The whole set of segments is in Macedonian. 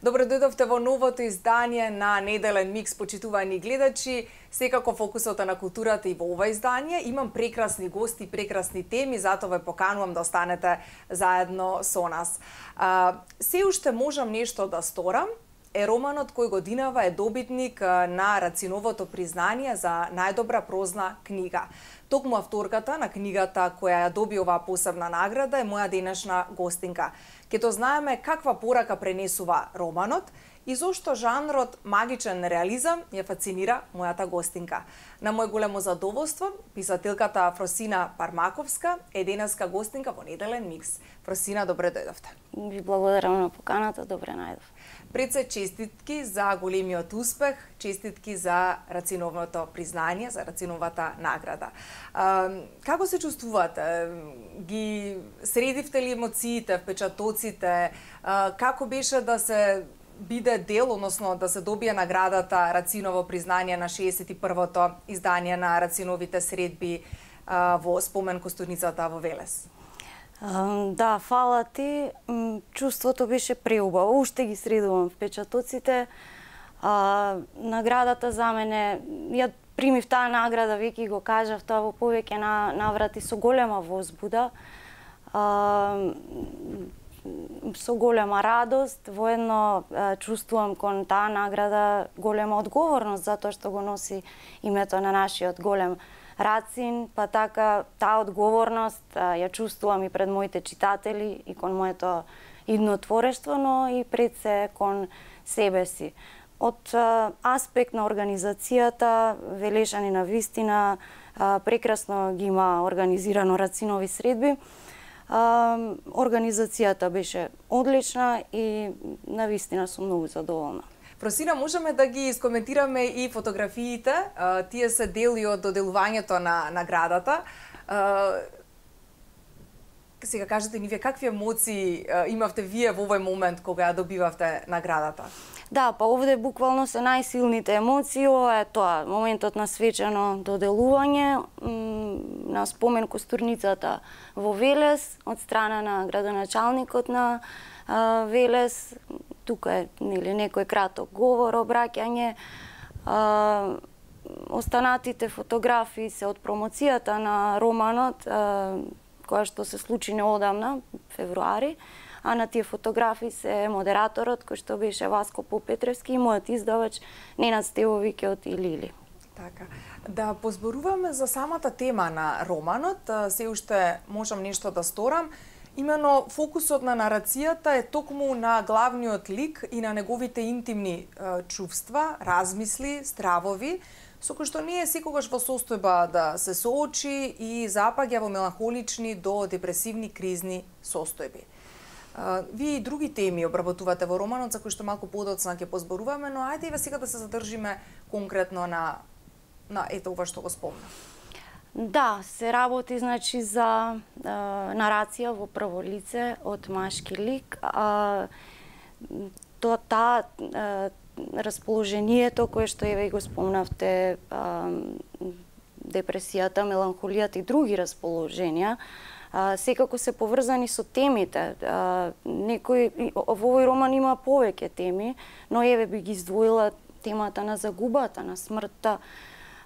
Добро дојдовте во новото издание на Неделен микс, почитувани гледачи. Секако фокусот е на културата и во ова издание. Имам прекрасни гости, прекрасни теми, затоа ве поканувам да останете заедно со нас. Се уште можам нешто да сторам е романот кој годинава е добитник на Рациновото признание за најдобра прозна книга. Токму авторката на книгата која ја доби оваа посебна награда е моја денешна гостинка. Ке то знаеме каква порака пренесува романот и зошто жанрот магичен реализам ја фасцинира мојата гостинка. На мој големо задоволство, писателката Фросина Пармаковска е денеска гостинка во Неделен микс. Фросина, добре дојдовте. Ви благодарам на поканата, добре најдов. Пред се честитки за големиот успех, честитки за Рациновото признание, за Рациновата награда. Како се чувствувате? Ги средивте ли емоциите, впечатоците? Како беше да се биде дел, односно да се добие наградата Рациново признание на 61-то издание на Рациновите средби во спомен костурницата во Велес? Да, фала ти. Чувството беше преубаво. Уште ги средувам впечатоците. Наградата за мене, ја примив таа награда, веќе го кажав, тоа во повеќе наврати со голема возбуда, со голема радост. Воедно чувствувам кон таа награда голема одговорност, затоа што го носи името на нашиот голем Рацин, па така таа одговорност ја чувствувам и пред моите читатели и кон моето идно творештво, но и пред се кон себе си. Од аспект на организацијата, Велешани на вистина прекрасно ги има организирано Рацинови средби. Организацијата беше одлична и на вистина сум многу задоволна. Фросина, можеме да ги искоментираме и фотографиите. Тие се дел и од доделувањето на наградата. Сега кажете ни вие какви емоции имавте вие во овој момент кога ја добивавте наградата? Да, па овде буквално се најсилните емоции. Ова е тоа, моментот на свечено доделување на спомен костурницата во Велес од страна на градоначалникот на Велес. Тука е некој краток говор, обраќање. Останатите фотографии се од промоцијата на романот, која што се случи неодамна, февруари, а на тие фотографии се модераторот, кој што беше Васко Попетревски, и мојот издавач Ненад Стевовиќе од Илили. Така. Да позборуваме за самата тема на романот, се уште можам нешто да сторам. Имено фокусот на нарацијата е токму на главниот лик и на неговите интимни чувства, размисли, стравови, со кои што не е секогаш во состојба да се соочи и запаѓа во меланхолични до депресивни кризни состојби. Вие и други теми обработувате во романот, за кои што малку подоцна ќе позборуваме, но ајде и сега да се задржиме конкретно на ето ова што го спомнав. Да, се работи значи за нарација во прво лице од машки лик. Таа расположението кое што еве го спомнавте, депресијата, меланхолијата и други расположенија, секако се поврзани со темите. Во овој роман има повеќе теми, но еве би ги издвоила темата на загубата, на смртта,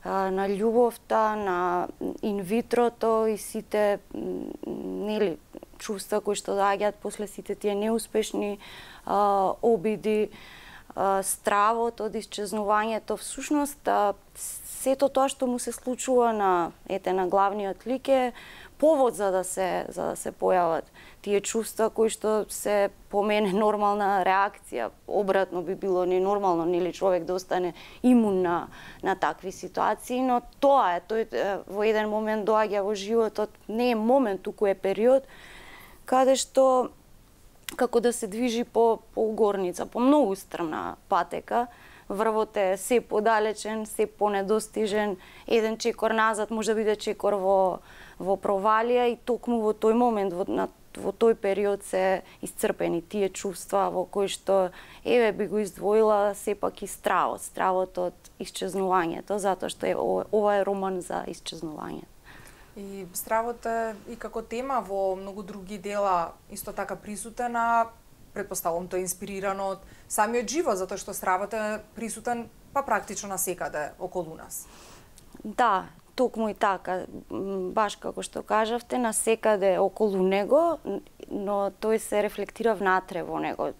на љубовта, на инвитрото и сите чувства кои што доаѓаат после сите тие неуспешни обиди, стравот од исчезнувањето. Всушност, сето тоа што му се случува на главниот лик е повод за да се појават тие чувства кои што се по мене нормална реакција. Обратно би било ненормално, нели, човек да остане имун на такви ситуации, но тоа е, тој во еден момент доаѓа во животот, не е момент, туку е период каде што како да се движи по горница, по многу стрмна патека. Врвот е се подалечен, се понедостижен, еден чекор назад може да биде чекор во провалија и токму во тој момент, на во тој период се исцрпени тие чувства во кои што би го издвоила сепак и стравот од исчезнувањето, затоа што ова е роман за исчезнување. И стравот е и како тема во многу други дела исто така присутен, а претпоставувам тоа е инспирирано од самиот живот, затоа што стравот е присутен практично насекаде околу нас. Да, токму и така, баш како што кажавте, насекаде околу него, но тој се рефлектира внатре во него.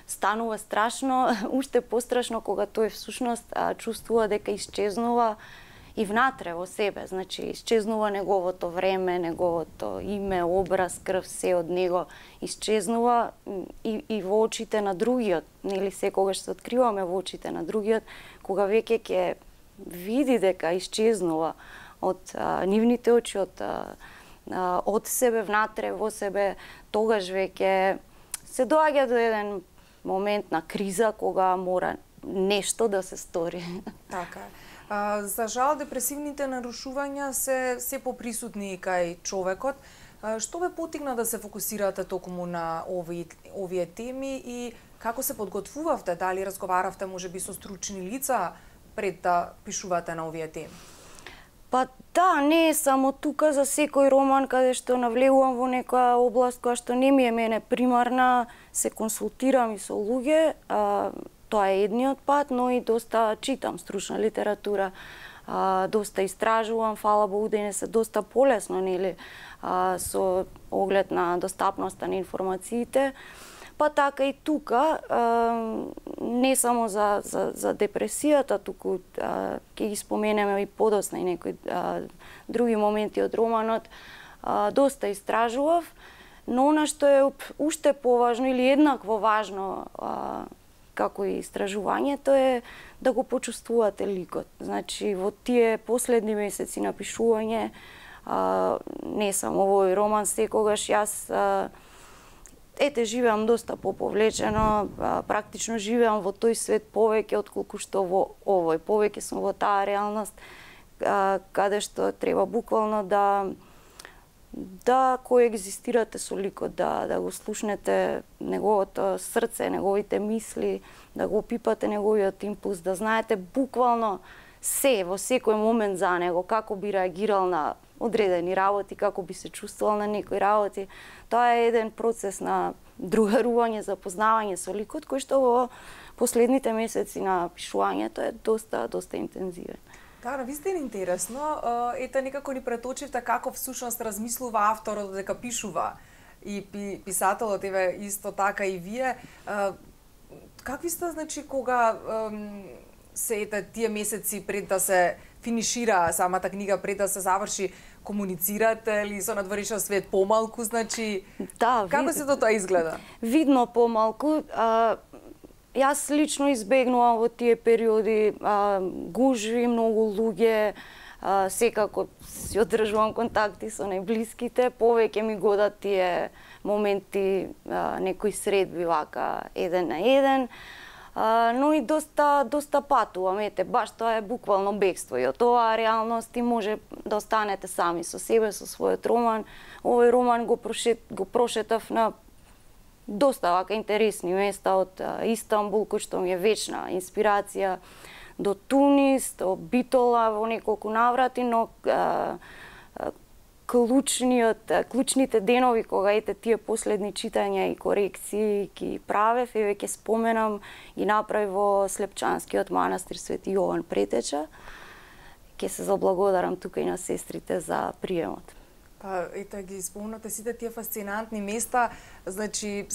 Станува страшно, уште пострашно кога тој всушност чувствува дека исчезнува и внатре во себе, значи исчезнува неговото време, неговото име, образ, крв, се од него исчезнува и во очите на другиот, нели секогаш се откриваме во очите на другиот, кога веќе ќе види дека исчезнува од нивните очи, од себе внатре во себе, тогаш веќе се доаѓа до еден момент на криза кога мора нешто да се стори. Така е. За жал, депресивните нарушувања се поприсутни кај човекот. Што ве потигна да се фокусирате токму на овие теми и како се подготвувавте? Дали разговаравте можеби со стручни лица пред да пишувате на овие теми? Па да, не е само тука, за секој роман каде што навлегувам во некоја област која што не ми е мене примарна, се консултирам и со луѓе. Тоа е едниот пат, но и доста читам стручна литература, доста истражувам, фала Богу денес е доста полесно, нели, со оглед на достапноста на информациите. Па така и тука, не само за депресијата, туку ќе ги споменеме и подосна и некои други моменти од романот, доста истражував, но она што е уште поважно или еднакво важно како и истражувањето е да го почувствувате ликот. Значи, во тие последни месеци на пишување, не само овој роман, секогаш јас живеам доста поповлечено, практично живеам во тој свет повеќе отколку што во овој. Повеќе сум во таа реалност, каде што треба буквално да коегзистирате со ликот, да го слушнете неговото срце, неговите мисли, да го опипате неговиот импулс, да знаете буквално се во секој момент за него, како би реагирал на одредени работи, како би се чувствувал на некои работи. Тоа е еден процес на другарување, запознавање со ликот, кој што во последните месеци на пишувањето е доста интензивен. Да, вистина интересно. Ете, некако ни преточивте како всушност размислува авторот дека пишува и писателот, исто така и вие. Какви сте, значи, кога се тие месеци пред да се финишира самата книга, пред да се заврши, комуницирате или со надворешниот свет помалку, значи, да, како се тоа изгледа? Видно помалку. Јас лично избегнувам во тие периоди гужви, многу луѓе, секако си одржувам контакти со најблиските, повеќе ми годат тие моменти, некои средби вака, еден на еден, но и доста патувам, баш тоа е буквално бегство и од оваа реалност и може да останете сами со себе, со својот роман. Овој роман го прошетав на доста вака интересни места, од Истанбул, кој што ми е вечна инспирација, до Тунис, до Битола во неколку наврати, но клучните денови кога тие последни читања и корекции ги правев, ќе споменам и направи во Слепчанскиот манастир Свети Јован Претеча. Ќе се заблагодарам тука и на сестрите за приемот. Па, ги спомнате сите тие фасцинантни места, значи,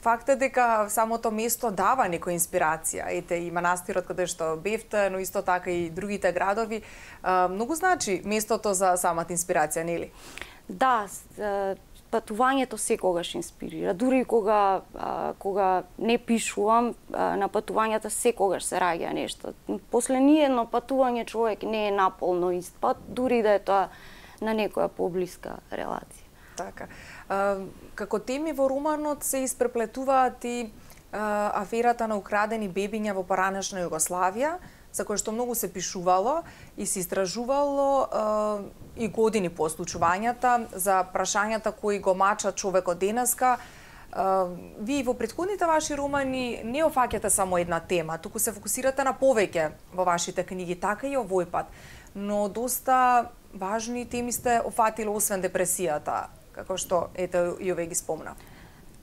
факт е дека самото место дава некоја инспирација. И манастирот каде што бевте, но исто така и другите градови. Многу значи местото за самата инспирација, нели? Да, патувањето секогаш инспирира. Дури кога не пишувам, на патувањата секогаш се раѓа нешто. После ниедно патување човек не е наполно ист пат, дури да е тоа на некоја поблиска релација. Така. Како теми во романот се испреплетуваат и аферата на украдени бебиња во поранешна Југославија, за кое што многу се пишувало и се истражувало и години по случувањата, за прашањата кои го мача човекот денеска. Вие во претходните ваши романи не офаќате само една тема, туку се фокусирате на повеќе во вашите книги, така и овој пат. Но доста важни теми сте офатили освен депресијата, како што ете и овие ги спомна.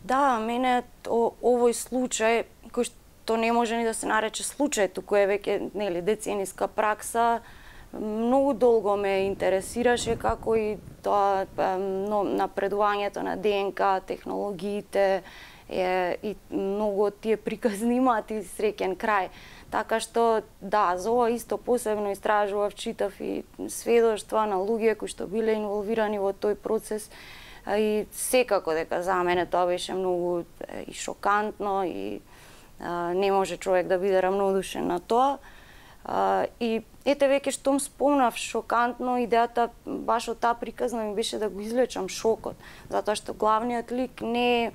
Да, мене овој случај, кој што не може ни да се нарече случај, туку е веќе нели децениска пракса, многу долго ме интересираше, како и тоа напредувањето на ДНК, технологиите и многу од тие приказни имаат и среќен крај. Така што, да, за ова исто посебно истражував, читав и сведоштва на луѓе кои што биле инволвирани во тој процес. И секако дека за мене тоа беше многу и шокантно и не може човек да биде рамнодушен на тоа. И ете веќе штом спомнав шокантно, идејата баш од таа приказна ми беше да го извлечам шокот, затоа што главниот лик не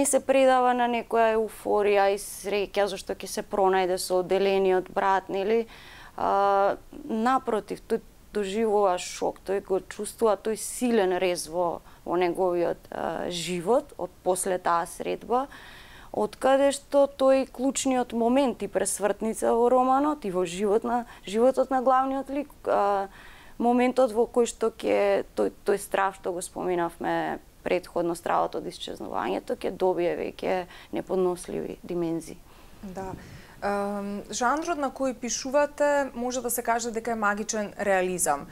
се предава на некоја еуфорија и среќа зашто ќе се пронајде со одделениот брат, нели? Напротив, тој доживува шок, тој го чувствува тој силен рез во неговиот живот од после таа средба, откаде што тој клучниот момент и пресвртница во романот и во животот на главниот лик, моментот во кој што ќе тој страв што го споменавме претходно, стравот од исчезнувањето, ќе добие веќе неподносливи димензии. Да. Жанрот на кој пишувате може да се каже дека е магичен реализам.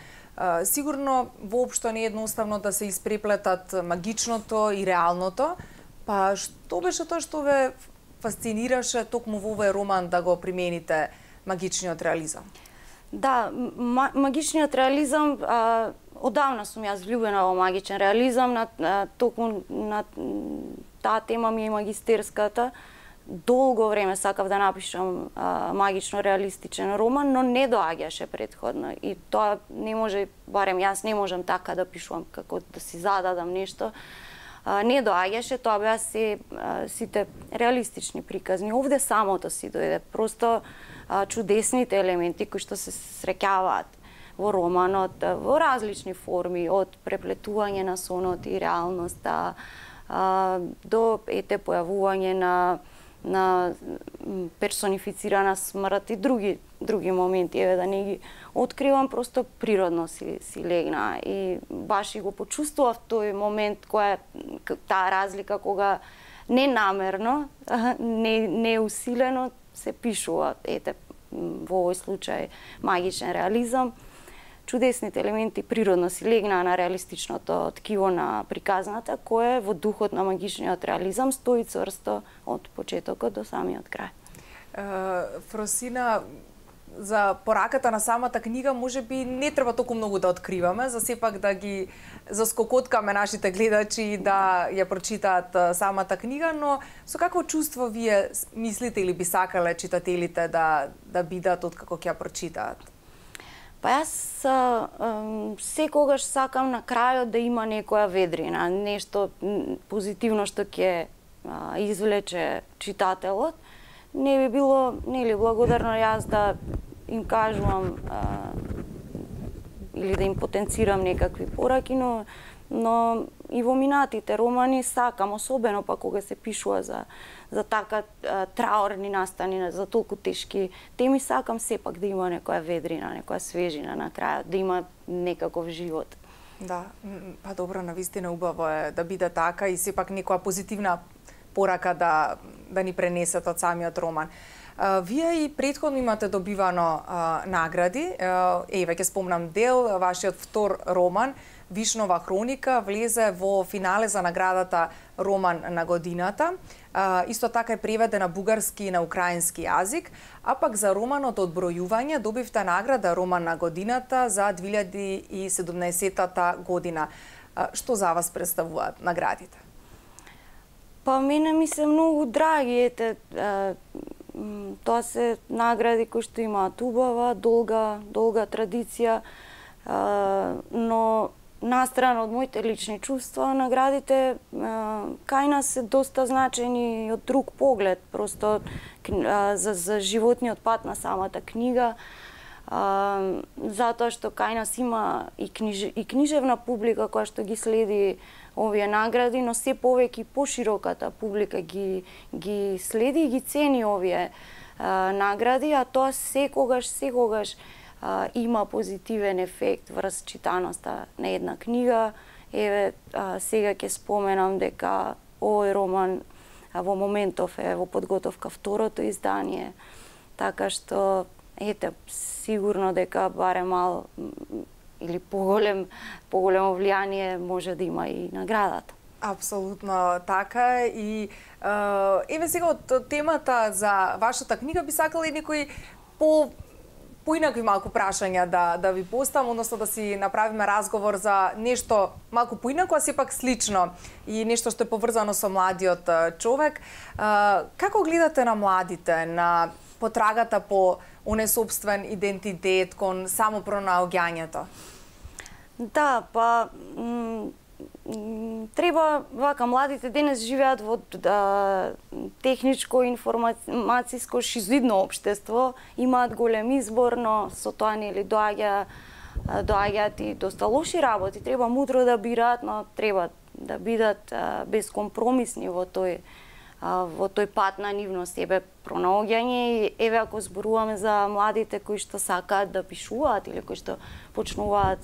Сигурно воопшто не е едноставно да се испреплетат магичното и реалното. Па што беше тоа што ве фасцинираше токму во овој роман да го примените магичниот реализам? Да, магичниот реализам, одавна сум јас влюбена во магичен реализам, токму на таа тема ми е магистерската. Долго време сакав да напишам магично реалистичен роман, но не доаѓаше претходно. И тоа не може, барем јас не можам така да пишувам, како да си зададам нешто. Не доаѓаше, тоа беа сите реалистични приказни. Овде самото си дојде, просто чудесните елементи кои што се среќаваат во романот во различни форми, од преплетување на сонот и реалноста до појавување на персонифицирана смрт и други моменти, еве да не ги откривам, просто природно си легна и баш и го почувствував тој момент, таа разлика кога ненамерно, не усилено се пишува, ете, во овој случај магичен реализам. Чудесните елементи природно си легнаа на реалистичното ткиво на приказната, кое во духот на магичниот реализам стои цврсто од почетокот до самиот крај. Фросина, за пораката на самата книга можеби не треба толку многу да откриваме, за сепак да ги заскокоткаме нашите гледачи и да ја прочитаат самата книга, но со какво чувство вие мислите или би сакале читателите да бидат откако ќе ја прочитаат? Па јас секогаш сакам на крајот да има некоја ведрина, нешто позитивно што ќе извлече читателот. Не би било благодарно јас да им кажувам или да им потенцирам некакви пораки, но и во минатите романи сакам, особено па кога се пишува за така траорни настани, за толку тешки теми, сакам сепак да има некоја ведрина, некоја свежина на крајот, да има некаков живот. Да, па добро, навистина убаво е да биде така и сепак некоја позитивна порака да ни пренесат од самиот роман. Вие и претходно имате добивано награди. Еве ќе спомнам дел, вашиот втор роман Вишнова хроника влезе во финале за наградата Роман на годината. Исто така е преведен на бугарски и на украински јазик, а пак за романот Одбројување добивте награда Роман на годината за 2017 година. Што за вас представуваат наградите? Па мене ми се многу драги, тоа се награди кои што имаат убава, долга традиција, но настрана од моите лични чувства, наградите кај нас се доста значени од друг поглед, просто за животниот пат на самата книга, затоа што кај нас има и книжевна публика која што ги следи овие награди, но се повеќе и пошироката публика ги следи и ги цени овие награди, а тоа секогаш има позитивен ефект врз читаноста на една книга. Еве, сега ќе споменам дека овој роман во моментов е во подготовка второто издание, така што ете, сигурно дека барем мал или поголемо влијание може да има и наградата. Апсолутно така. И еве сега од темата за вашата книга би сакала и некои поинакви малку прашања да ви поставам, односно да си направиме разговор за нешто малку поинако, а сепак слично и нешто што е поврзано со младиот човек. Како гледате на младите, на потрагата по оне собствен идентитет, кон самопронаоѓањето? Да, па треба вака, младите денес живеат во техничко информацијско шизоидно општество, имаат голем избор, но со тоа нели доаѓаат и доста лоши работи. Треба мудро да бираат, но треба да бидат безкомпромисни во тој пат на нивно себе пронаоѓање. И еве, ако зборуваме за младите кои што сакаат да пишуваат или кои што почнуваат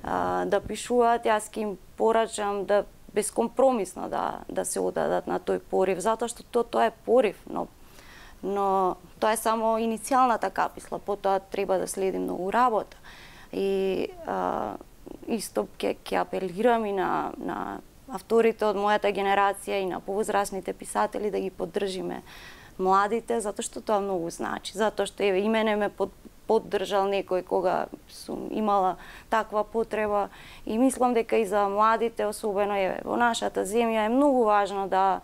да пишуваат, јас ќе им порачам да безкомпромисно да се одадат на тој порив, затоа што тоа е порив, но тоа е само иницијалната каписла, потоа треба да следи многу работа. И исто ќе апелирам и на авторите од мојата генерација и на повозрасните писатели да ги поддржиме младите, затоа што тоа многу значи. Затоа што еве и мене ме поддржал некој кога сум имала таква потреба и мислам дека и за младите, особено еве во нашата земја, е многу важно да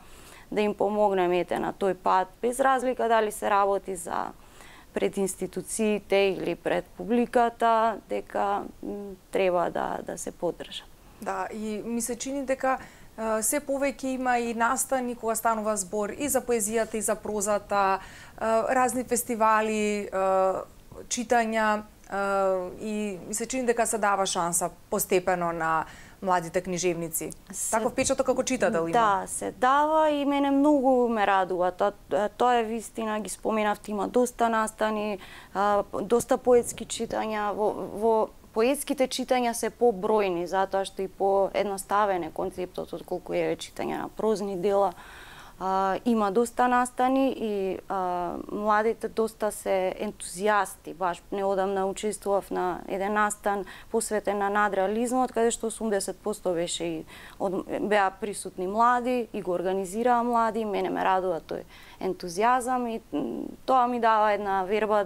им помогнеме на тој пат, без разлика дали се работи за пред институциите или пред публиката, дека треба да се поддржа. Да, и ми се чини дека се повеќе има и настани кога станува збор и за поезијата и за прозата, разни фестивали, читања, и ми се чини дека се дава шанса постепено на младите книжевници. Таков впечаток како читател има. Да, се дава и мене многу ме радува. Тоа е вистина, ги споменавте, има доста настани, доста поетски читања. Во поетските читања се побројни, затоа што и поедноставен е концептот отколку е читање на прозни дела. Има доста настани и младите доста се ентузијасти. Баш неодамна учествував на еден настан посветен на надреализмот, каде што 80% беа присутни млади и го организираа млади. Мене ме радува тој ентузијазам и тоа ми дава една верба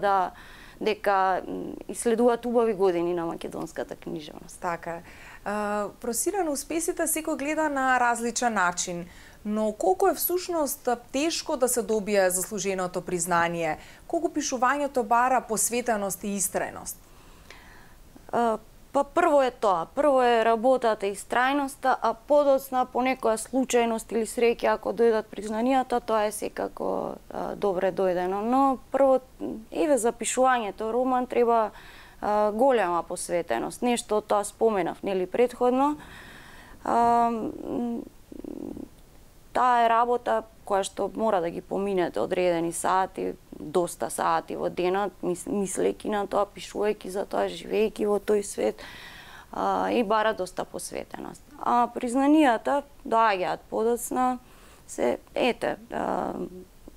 дека иследуваат убави години на македонската книжевност. Така. Просира на успесите секој гледа на различен начин, но колку е всушност тешко да се добие заслуженото признание? Колку пишувањето бара посветеност и истрајност? Па прво е тоа. Прво е работата и страјноста, а подоцна по некоја случајност или среќа ако дојдат признанијата, тоа е секако добре дојдено. Но прво, еве за пишувањето роман треба голема посветеност. Нешто од тоа споменав, нели предходно. Таа е работа која што мора да ги поминете одредени сати, доста сати во денот, мислејќи на тоа, пишувајќи за тоа, живејќи во тој свет, и бара доста посветеност. А признанијата доаѓаат подоцна,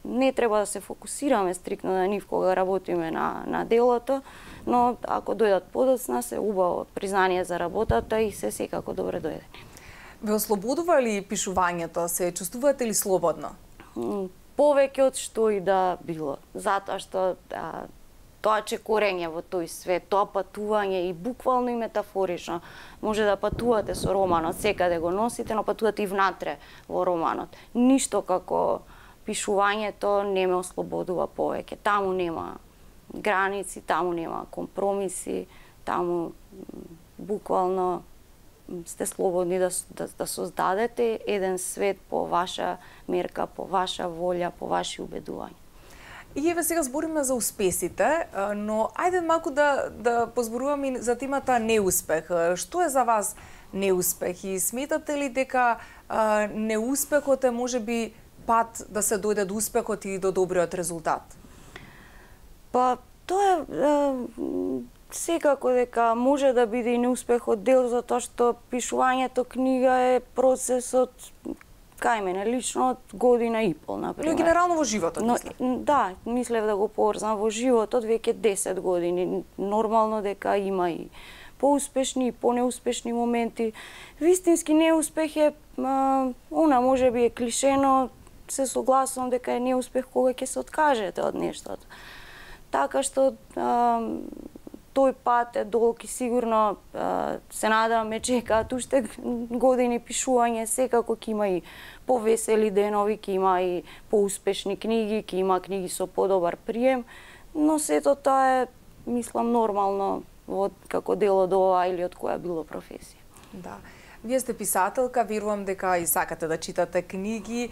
не треба да се фокусираме стрикно на нив кога работиме на делото, но ако дојдат подоцна, се убаво признание за работата и се секако добре дојдени. Ве ослободува ли пишувањето? Се чувствувате ли слободно? Повеќе од што и да било. Затоа што тоа чекорење во тој свет, тоа патување и буквално и метафорично. Може да патувате со романот, секаде го носите, но патувате и внатре во романот. Ништо како пишувањето не ме ослободува повеќе. Таму нема граници, таму нема компромиси, таму буквално сте слободни да создадете еден свет по ваша мерка, по ваша волја, по ваши убедувања. И еве сега збориме за успесите, но ајде малку да позборуваме за темата неуспех. Што е за вас неуспех и сметате ли дека неуспехот е можеби пат да се дојде до успехот и до добриот резултат? Па тоа е секако дека може да биде и неуспехот дел, затоа што пишувањето книга е процесот кај мене лично од година и пол, например. Но генерално во животот, мислам. Да, мислев да го поврзам во животот веќе 10 години. Нормално дека има и поуспешни и понеуспешни моменти. Вистински неуспех е, може би е клишено, се согласувам дека е неуспех кога ќе се откажете од нештото. Така што тој пат е долг и сигурно се надам ме чекаат уште години пишување, секако ќе има и повесели денови, ќе има и поуспешни книги, ќе има книги со подобар прием, но сето тоа е, мислам, нормално како дел од ова или од која било професија. Да. Вие сте писателка, верувам дека и сакате да читате книги.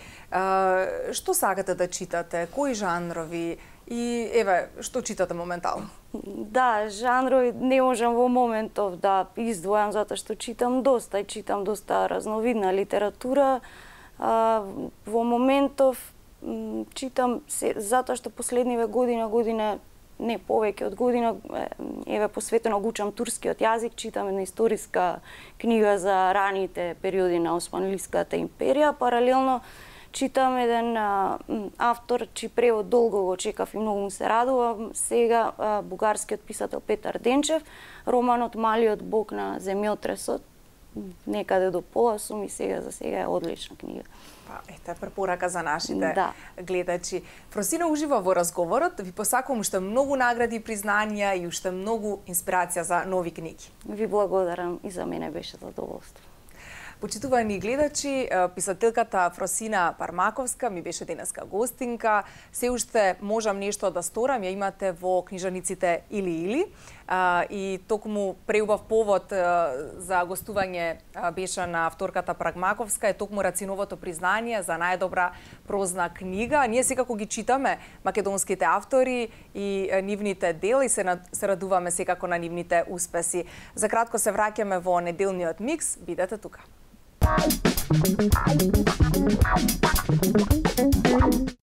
Што сакате да читате? Кои жанрови? И еве, што читате моментално? Да, жанрови не можам во моментов да издвојам затоа што читам доста разновидна литература. Во моментов читам затоа што последниве година не повеќе од година еве посветено го учам турскиот јазик, читам една историска книга за раните периоди на Османлиската империја, паралелно читам еден автор чиј превод долго го чекав и многу му се радувам, сега бугарскиот писател Петар Денчев, романот Малиот бог на земјотресот, некаде до пола сум и за сега е одлична книга. Па, ете, препорака за нашите гледачи. Фросина ужива во разговорот, ви посакувам уште многу награди и признанија и уште многу инспирација за нови книги. Ви благодарам и за мене беше задоволство. Почитувани гледачи, писателката Фросина Пармаковска ми беше денеска гостинка. Се уште можам нешто да сторам, ја имате во книжаниците Или. И токму преубав повод за гостување беше на авторката Пармаковска, е токму Рациновото признание за најдобра прозна книга. Ние секако ги читаме македонските автори и нивните дела и се радуваме секако на нивните успеси. За кратко се враќаме во неделниот микс, бидете тука.